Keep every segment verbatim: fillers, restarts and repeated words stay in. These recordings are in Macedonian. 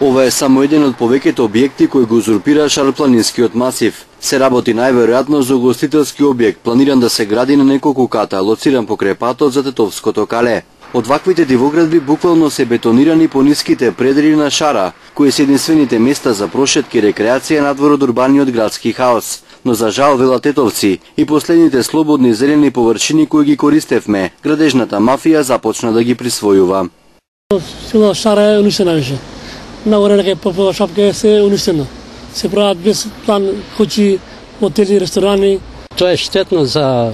Ова е само еден од повеќето објекти кои го узурпира шарпланинскиот масив. Се работи најверојатно за угостителски објект, планиран да се гради на неколку ката, лоциран покрај патот за Тетовското кале. Од ваквите дивоградби буквално се бетонирани по ниските предели на Шара, кои се единствените места за прошетки и рекреација надвор од урбаниот градски хаос. Но за жал, велат тетовци, и последните слободни зелени површини кои ги користевме, градежната мафија започна да ги присвојува. Сила Шара е уништена више. Нагоре нека по шапка се уништено. Се прават без план куќи, хотели, ресторани. Тоа е штетно за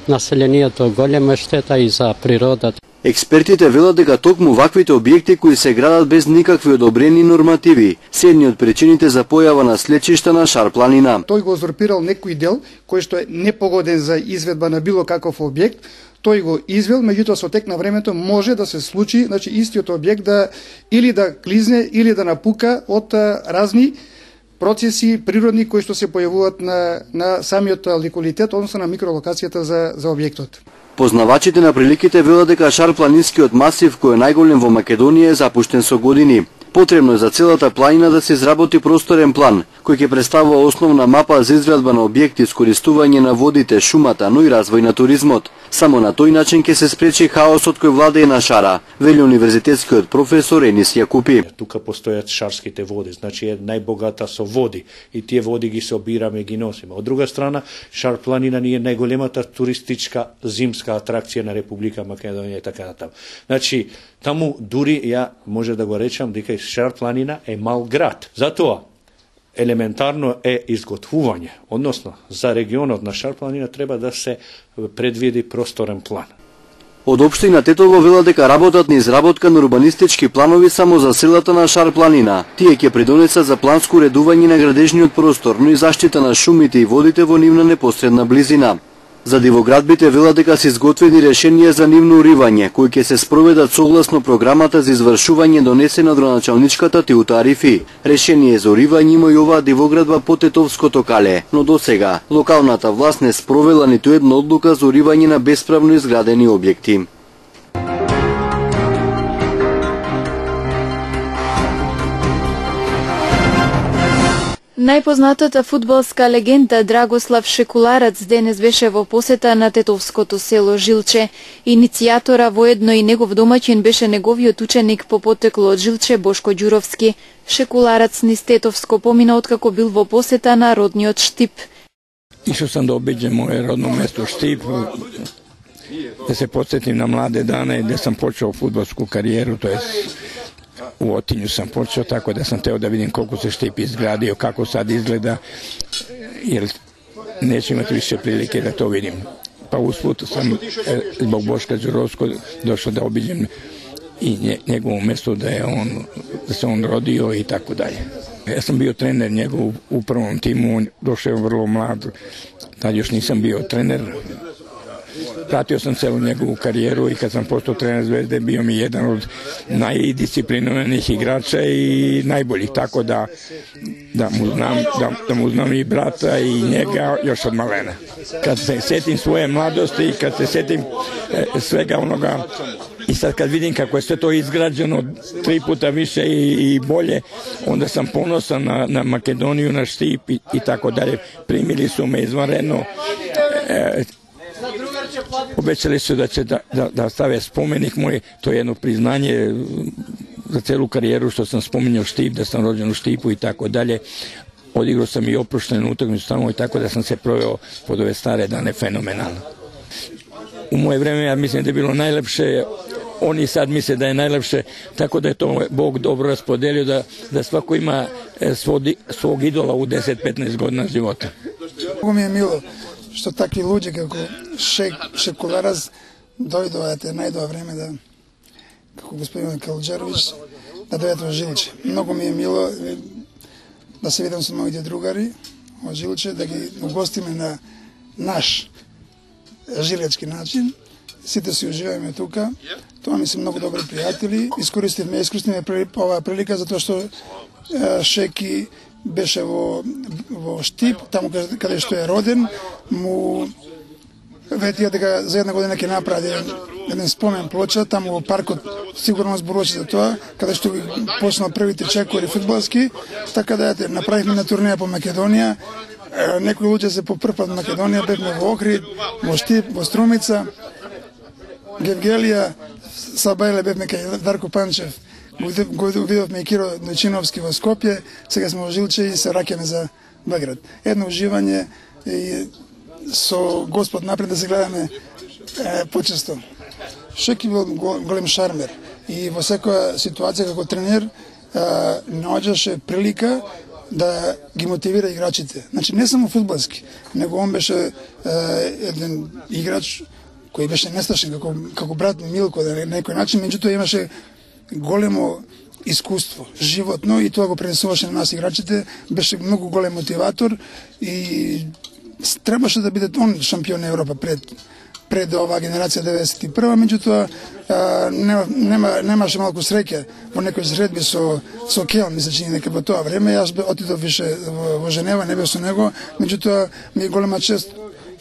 населението, голема штета и за природата. Експертите велат дека токму ваквите објекти кои се градат без никакви одобрени нормативи се едни од причините за појава на слечишта на Шар планина. Тој го узурпирал некој дел кој што е непогоден за изведба на било каков објект, тој го извел, меѓутоа со тек на времето може да се случи, значи истиот објект да или да клизне или да напука од разни процеси природни кои што се појавуваат на на самиот локалитет, односно на микролокацијата за за објектот. Познавачите на приликите велат дека Шар планинскиот масив, кој е најголем во Македонија, е запуштен со години. Потребно е за целата планина да се изработи просторен план, кој ќе представува основна мапа за изградба на објекти, искористување на водите, шумата, но и развој на туризмот. Само на тој начин ќе се спречи хаосот кој владее на Шара, вели универзитетскиот професор Енис Јакупи. Тука постојат шарските води, значи е најбогата со води и тие води ги собираме и ги носиме. Од друга страна, Шар планина ни е најголемата туристичка зимска атракција на Република Македонија и така натаму. Значи, таму дури ја може да го речам дека Шар планина е мал град. Затоа елементарно е изготвување, односно за регионот на Шар планина треба да се предвиди просторен план. Од општина Тетово велат дека работат на изработка на урбанистички планови само за селата на Шар планина. Тие ќе придонесат за планско уредување на градежниот простор, но и заштита на шумите и водите во нивна непосредна близина. За дивоградбите велат дека се изготвени решенија за нивно уривање, кои ќе се спроведат согласно програмата за извршување донесена од градоначалничката Тиута Арифи. Решение за уривање има и оваа дивоградба по Тетовското кале, но досега локалната власт не спровела ниту една одлука за уривање на бесправно изградени објекти. Најпознатата фудбалска легенда Драгослав Шекуларац денес беше во посета на тетовското село Жилче. Иницијатора воедно и негов домаќин беше неговиот ученик по потекло од Жилче Бошко Ѓуровски. Шекуларац низ Тетовско помина откако бил во посета на родниот Штип. Ишо сам да обиđem моје родно место Штип, да се подсетим на младе дане где сам почео фудбалску кариеру, то jest u Otinju sam počeo, tako da sam teo da vidim koliko se Štip izgradio, kako sad izgleda, jer neću imati više prilike da to vidim. Pa usput sam zbog Boška Đurovskog došao da obiđem i njegovo mesto da je on, da se on rodio i tako dalje. Ja sam bio trener njegov u prvom timu, on došao je vrlo mlad, tad još nisam bio trener. Pratio sam celu njegovu karijeru i kad sam postao trener Zvezde bio mi jedan od najdisciplinovanih igrača i najboljih, tako da, da, mu znam, da, da mu znam i brata i njega još od malena. Kad se setim svoje mladosti i kad se setim e, svega onoga i sad kad vidim kako je sve to izgrađeno tri puta više i, i bolje, onda sam ponosan na, na Makedoniju, na Štip i, i tako dalje. Primili su me izvanredno. E, Obećali su da će da, da, da stave spomenik moj, to je jedno priznanje za celu karijeru što sam spominjao Štip, da sam rođen u Štipu i tako dalje. Odigrao sam i oproštenu utakmicu tamo i tako da sam se proveo pod ove stare dane fenomenalno. U moje vreme ja mislim da je bilo najlepše, oni sad misle da je najlepše, tako da je to Bog dobro raspodelio da, da svako ima svog, svog idola u deset do petnaest godina života. Mnogo mi je milo što takvi luđe kako Šek, Šekularaz dojdu, a te najdova vreme da, kako gospodin Kalđerović, da doјдат во Жилче. Mnogo mi je milo da se vidim sa mojите drugari od Жилче, da ги ugostime na naš жилечки начин. Сите си уживаме тука. Тоа ми се многу добри пријатели. Искористивме, искористивме оваа прилика затоа што Шеки беше во, во Штип, таму каде што е роден, му ветија дека за една година ќе направи еден спомен плоча таму во паркот, сигурно зборуваше за тоа, каде што ги почнал првите чекори фудбалски, така да ете, направивме на турнеја по Македонија. Некои луѓе се по прв пат во Македонија, бевме во Охрид, во Штип, во Струмица, Гевгелија, Сабајле бевме кај Дарко Панчев, го видовме и Киро Дојчиновски во Скопје, сега сме во Жилче и се раќаме за Белград. Едно уживање и со Господ напред да се гледаме е, почесто. Шеки бил голем шармер и во секоја ситуација како тренер е, наоѓаше прилика да ги мотивира играчите. Значи не само фудбалски, него он беше е, еден играч кој беше несташен како, како брат Милко на некој начин, меѓутоа имаше големо искуство, животно, и тоа го пренесуваше на нас играчите, беше многу голем мотиватор и требаше да биде он шампион на Европа пред пред оваа генерација деветдесет и прва, меѓутоа нема, нема, немаше малку среќа во некои средби со со Кел, ми се чини дека во тоа време јас отидов више во, во Женева, не бев со него, меѓутоа ми е голема чест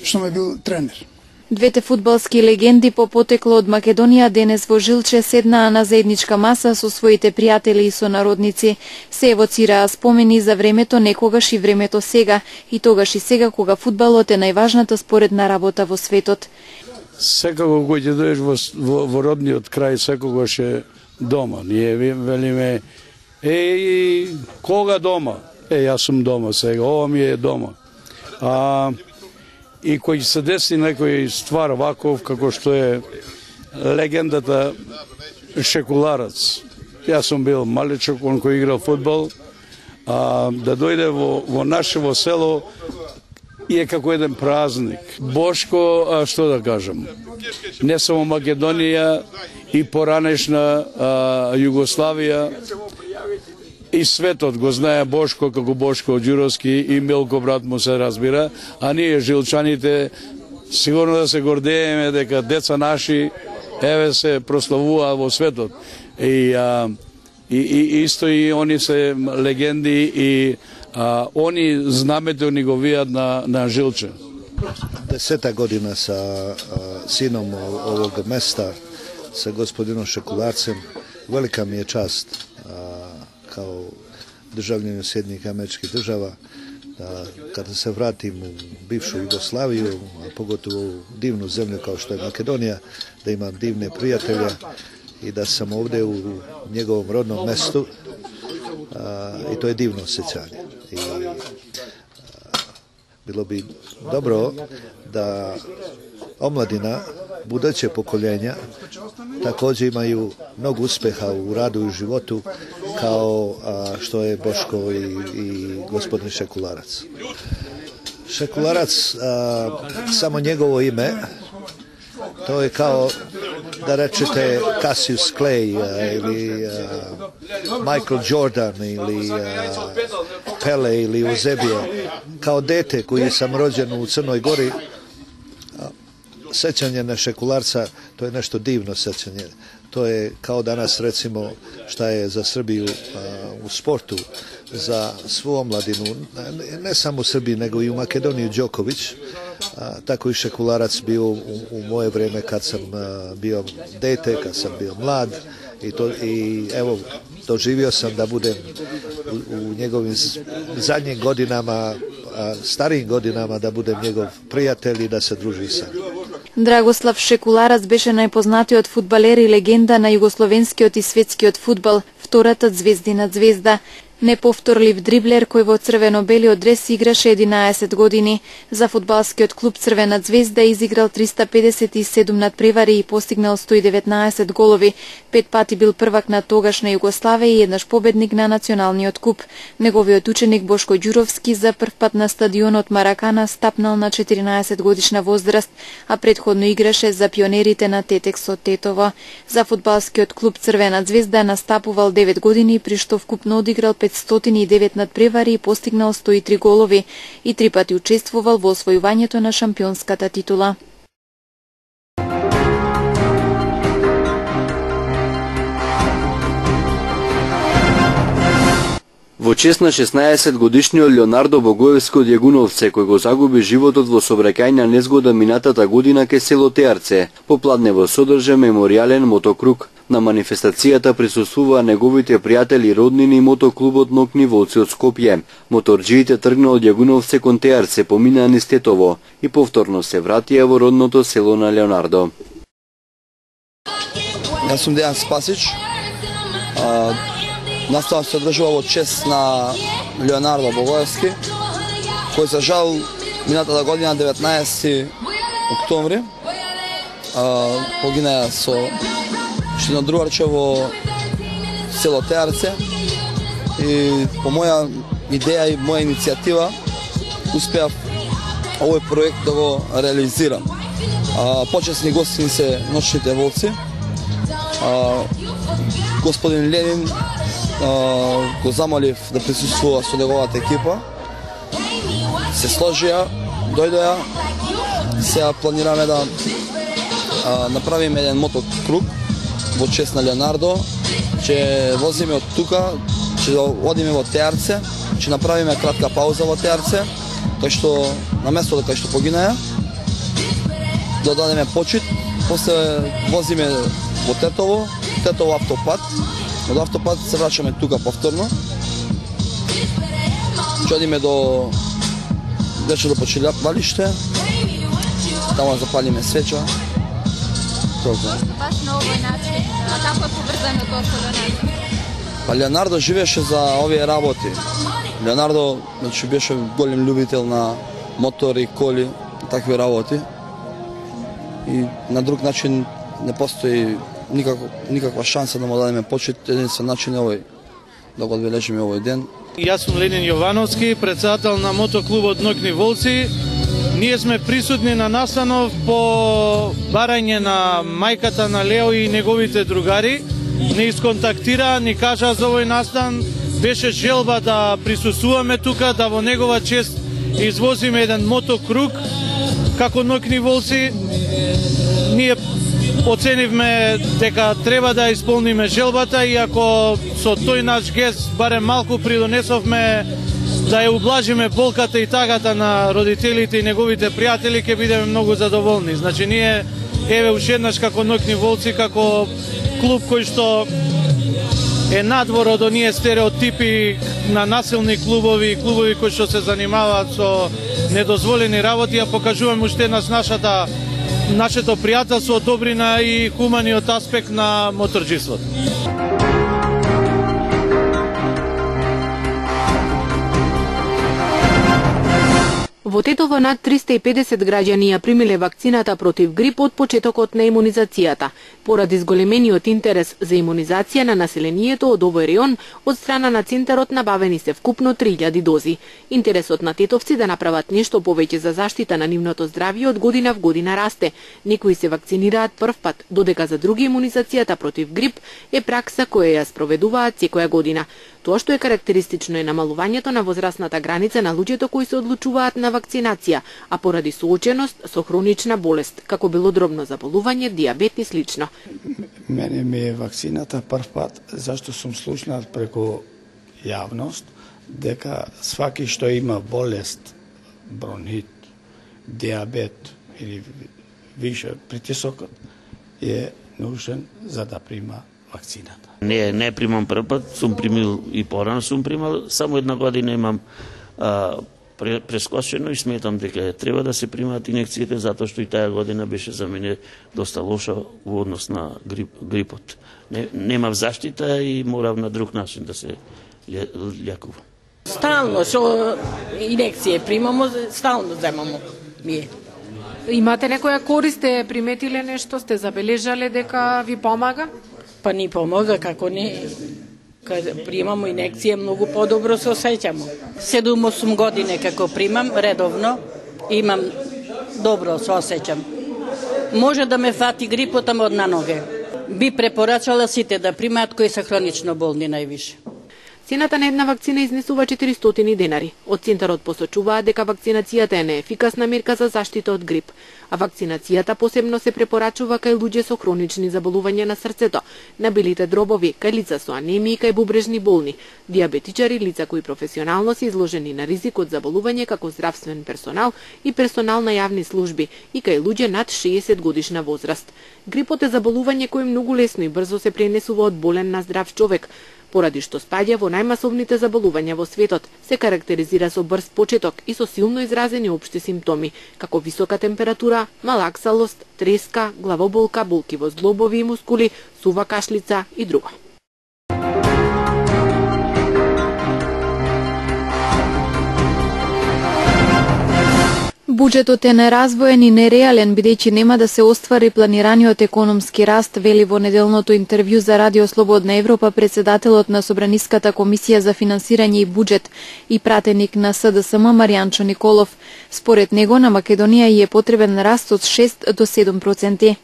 што ме бил тренер. Двете фудбалски легенди по потекло од Македонија денес во Жилче седнаа на заедничка маса со своите пријатели и сонародници. Се евоцираа спомени за времето некогаш и времето сега, и тогаш и сега кога фудбалот е најважната споредна работа во светот. Секако кој ќе дојдеш во, во, во родниот крај, секогаш е дома. Ние велиме, еј, кога дома? Е, јас сум дома сега, ова ми е дома. А и кој се деси некој ствар ваков, како што е легендата Шекуларац. Јас сум бил малечок, он кој играл фудбал, а, да дојде во, во нашево село и е како еден празник. Бошко, а, што да кажам, не само Македонија и поранешна а, Југославија, и светот го знае Бошко како Бошко Ѓуровски и Милко брат му се разбира, а ние жилчаните сигурно да се гордееме дека деца наши еве се прославуваат во светот. И, а, и, и исто и они се легенди и а, они знамето ни го вијат на, на Жилче. Десета година sa a, sinom ovog mesta, sa gospodinom Šekulарцем, velika mi je čast a, kao državljanin Sjedinjenih Američkih Država, da kada se vratim u bivšu Jugoslaviju, a pogotovo u divnu zemlju kao što je Makedonija, da imam divne prijatelje i da sam ovdje u njegovom rodnom mestu, a, i to je divno osjećanje. I, a, bilo bi dobro da omladina, buduće pokoljenja, također imaju mnogo uspeha u radu i u životu kao a, što je Boško i, i gospodin Šekularac. Šekularac, a, samo njegovo ime, to je kao da rečete Cassius Clay a, ili a, Michael Jordan ili a, Pele ili Eusebije. Kao dete koji sam rođen u Crnoj Gori, sećanje na Šekularca, to je nešto divno sećanje. To je kao danas recimo šta je za Srbiju a, u sportu, za svu omladinu, ne, ne samo u Srbiji nego i u Makedoniji Đoković, a, tako i Šekularac bio u, u moje vreme kad sam a, bio dete, kad sam bio mlad i, to, i evo doživio sam da budem u, u njegovim zadnjim godinama, a, starijim godinama da budem njegov prijatelj i da se druži sa njim. Драгослав Шекуларац беше најпознатиот фудбалер и легенда на југословенскиот и светскиот фудбал, втората звездина звезда. Неповторлив дриблер кој во црвено-белиот дрес играше единаесет години. За фудбалскиот клуб Црвена звезда изиграл триста педесет и седум надпревари и постигнал сто и деветнаесет голови. Пет пати бил првак на тогашна Југославија и еднаш победник на националниот куп. Неговиот ученик Бошко Ѓуровски за прв пат на стадионот Маракана стапнал на четиринаесет годишна возраст, а предходно играше за пионерите на Тетексот Тетово. За фудбалскиот клуб Црвена звезда настапувал девет години, при што вкупно одиграл петстотини и девет надпревари и постигнал сто и три голови и три пати учествувал во освојувањето на шампионската титула. Во Во чест на шеснаесет годишниот Леонардо Богоевски од Јагуновце, кој го загуби животот во сообраќајна незгода минатата година кај село Теарце, попладнево содржа меморијален мотокруг. На манифестацијата присуствуваа неговите пријатели и роднини и мотоклубот Ноќни волци од Скопје. Моторџиите тргнаа од Јагуновце кон Теарце, поминаа низ Тетово и повторно се вратија во родното село на Леонардо. Јас сум Дејан Спасич. Наставам се одржува во чест на Леонардо Богоевски, кој за жал минатата година деветнаесети октомври погина со шинодруварче во село Теарце и по моја идеја и моја иницијатива успеав овој проект да го реализирам. Почесни гостини се Ноќните волци, господин Ленин го замолив да присуствува со неговата екипа. Се сложија, дојдоја. Сега планираме да направиме еден мотокруг во чест на Леонардо. Ќе возиме од тука, ќе одиме во Теарце, ќе направиме кратка пауза во Теарце, кај што на местото кај што погинаа, да дадеме почит, после возиме во Тетово, Тетово автопат. Од автопат се врачаме тука повторно. Ќе одиме до вече до почилјапалиште. Таму запалиме свеча. Толку. Баш на овој начин, а како е поврзано тоа со Леонардо? Па Леонардо живееше за овие работи. Леонардо значи беше голем љубител на мотори, коли, такви работи. И на друг начин не постои никако, никаква шанса да му дадеме почит. Единствен начин е овој, да го одбележиме овој ден. Јас сум Ленин Јовановски, председател на мотоклубот Ноќни волци. Ние сме присутни на настанов по барање на мајката на Лео и неговите другари. Не исконтактира, ни кажа за овој настан. Беше желба да присуствуваме тука, да во негова чест извозиме еден мотокруг како Ноќни волци. Ние оценивме дека треба да исполниме желбата и ако со тој наш гест барем малку придонесовме да ја ублажиме болката и тагата на родителите и неговите пријатели, ќе бидеме многу задоволни. Значи ние еве уште еднаш како Ноќни волци, како клуб кој што е надвор од оние стереотипи на насилни клубови, клубови кои што се занимаваат со недозволени работи, ја покажуваме уште еднаш нашата нашето пријателство, добрина и хуманиот аспект на моторџиството. Во Тетово над триста и педесет граѓани ја примиле вакцината против грип од почетокот на имунизацијата. Поради зголемениот интерес за имунизација на населението од овој реон, од страна на Центарот набавени се вкупно три илјади дози. Интересот на тетовци да направат нешто повеќе за заштита на нивното здравје од година в година расте. Некои се вакцинираат прв пат, додека за други имунизацијата против грип е пракса која ја спроведуваат секоја година. Тоа што е карактеристично е намалувањето на возрастната граница на луѓето кои се одлучуваат на вакцинација, а поради сооченост со хронична болест, како белодробно заболување, дијабет и слично. Мене ми е вакцината прв пат, зашто сум слушнат преку јавност, дека сваки што има болест, бронхит, дијабет или више притисокот, е нужен за да прима вакцината. Не, не примам прв пат, сум примил и порано сум примал, само една година имам а, прескочено и сметам дека треба да се примаат инекциите, затоа што и таа година беше за мене доста лоша во однос на грип, грипот. Не, немав заштита и морав на друг начин да се љакувам. Стално со инекcije примамо, стално земамо ние. Имате некоја корист, сте приметиле нешто, сте забележале дека ви помага? Па ни помага, како не. Кога примамо инекција, многу подобро се осеќамо. седум-осум години како примам редовно, имам добро се осеќам. Може да ме фати грипот, ама од на ноге. Би препорачала сите да примаат кои се хронично болни највише. Цената на една вакцина изнесува четиристотини денари. Од Центарот посочуваат дека вакцинацијата е неефикасна мерка за заштита од грип. а вакцинацијата посебно се препорачува кај луѓе со хронични заболувања на срцето, набилите дробови, кај лица со анемија и кај бубрежни болни, диабетичари, лица кои професионално се изложени на ризик од заболување како здравствен персонал и персонал на јавни служби и кај луѓе над шеесет годишна возраст. Грипот е заболување кое многу лесно и брзо се пренесува од болен на здрав човек, поради што спаѓа во најмасовните заболувања во светот, се карактеризира со брз почеток и со силно изразени општи симптоми, како висока температура, малаксалост, треска, главоболка, болки во зглобови и мускули, сува кашлица и друго. Буџетот е неразвоен и нереален, бидејќи нема да се оствари планираниот економски раст, вели во неделното интервју за Радио Слободна Европа председателот на Собраниската комисија за финансирање и буџет и пратеник на С Д С М Маријанчо Николов. Според него на Македонија и е потребен раст од шест до седум проценти.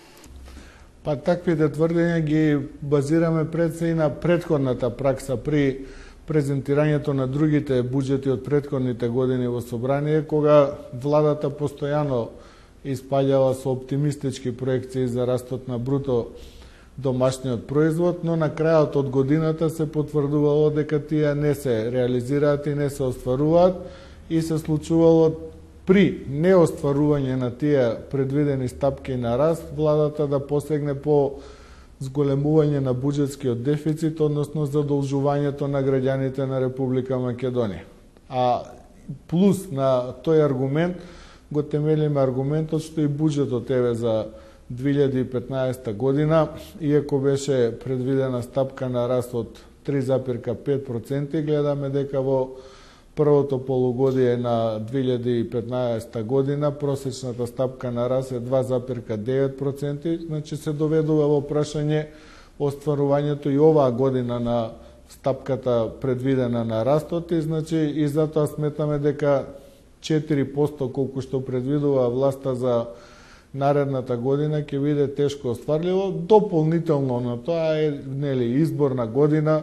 Па таквите тврдења ги базираме пред се и на претходната пракса при презентирањето на другите буџети од претходните години во собрание, кога владата постојано испаѓала со оптимистички проекции за растот на бруто домашниот производ, но на крајот од годината се потврдувало дека тие не се реализираат и не се остваруваат и се случувало при неостварување на тие предвидени стапки на раст, владата да посегне по зголемување на буџетскиот дефицит, односно задолжувањето на граѓаните на Република Македонија. А плюс на тој аргумент го темелиме аргументот што и буџетот еве за две илјади и петнаесета година, иако беше предвидена стапка на раст од три запирка пет проценти, гледаме дека во првото полугодие на две илјади и петнаесета година просечната стапка на раст е два запирка девет проценти, значи се доведува во прашање остварувањето и оваа година на стапката предвидена на растот и значи и затоа сметаме дека четири проценти колку што предвидува власта за наредната година ќе биде тешко остварливо. Дополнително на тоа е нели изборна година,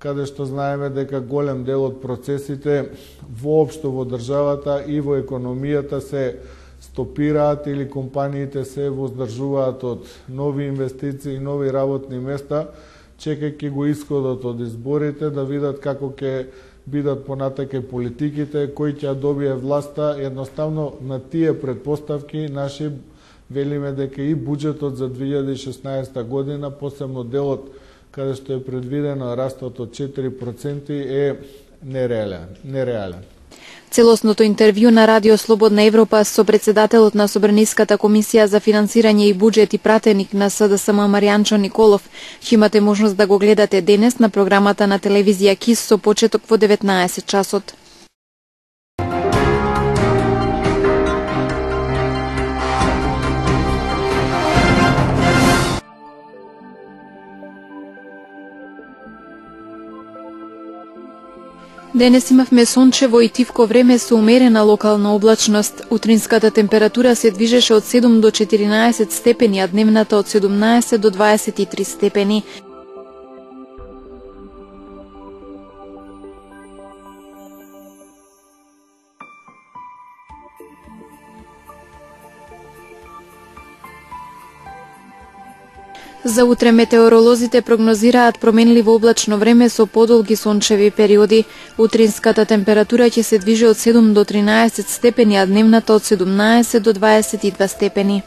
каде што знаеме дека голем дел од процесите воопшто во државата и во економијата се стопираат или компаниите се воздржуваат од нови инвестиции и нови работни места, чекајќи го исходот од изборите да видат како ќе бидат понатаке политиките, кој ќе добие власта. Едноставно на тие предпоставки наши велиме дека и буџетот за две илјади и шеснаесета година, посебно делот каде што е предвидено растот од четири проценти е нереален. нереален. Целосното интервју на Радио Слободна Европа со председателот на Собраниската комисија за финансирање и буџет и пратеник на С Д С М Маријанчо Николов ќе имате можност да го гледате денес на програмата на телевизија КИС со почеток во деветнаесет часот. Денес имавме сончево и тивко време со умерена локална облачност. Утринската температура се движеше од седум до четиринаесет степени, а дневната од седумнаесет до дваесет и три степени. За утре метеоролозите прогнозираат променливо облачно време со подолги сончеви периоди. Утринската температура ќе се движи од седум до тринаесет степени, а дневната од седумнаесет до дваесет и два степени.